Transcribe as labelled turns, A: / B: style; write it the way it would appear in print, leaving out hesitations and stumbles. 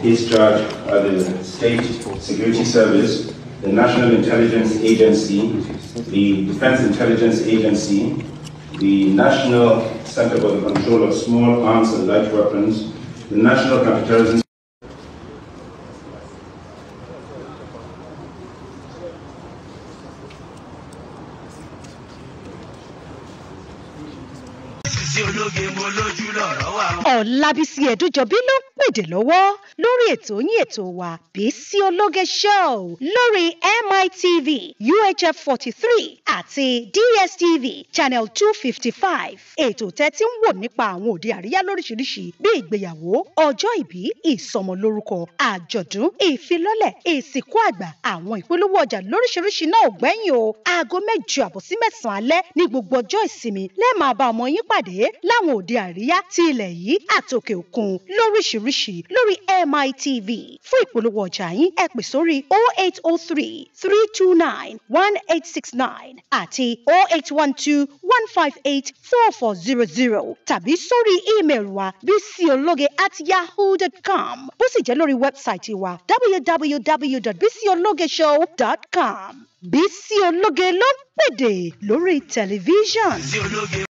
A: He's charged by the State Security Service, the National Intelligence Agency, the Defense Intelligence Agency, the National Center for the Control of Small Arms and Light Weapons, the National Counterterrorism.
B: Ọlábísí Ẹ̀dújọbí ló ń pèdè lọ́wọ́ lórí ètò yín, ètò wa, Bísí Ológe Show, lórí MITV UHF 43 àti DSTV channel 255. Ètò tẹ́tí ń wò nípa àwọn òde àríyá lóríṣiríṣi bí ìgbéyàwó, ọjọ́ ìbí, ìsọmọlórúkọ, àjọ̀dún, ìfilọ́lẹ̀, ìsìnkú àgbà, àwọn ìpolówó ọjà lóríṣiríṣi náà ò gbẹ́yìn o. Aago 8:30 sí 9 alẹ́ ní gbogbo ọjọ́ ìsinmi lẹ́ẹ̀ máa bá ọmọ yín pàdé láwọn òde àríyá ti ilẹ̀ yìí àtòkè òkun lóríṣiríṣi lórí MITV. Fún ìpolówó ọjà yín, ẹ pè sórí 0803 329 1869 àti 0812 158 4400 tàbí sórí ímeèlì wa bísíológe@yahoo.com, bó sì jẹ́ lórí wẹ́bsáìtì wa www.bísíológeshow.com. Bísí Ológe ló ń pèdè lórí tẹlifíṣàn.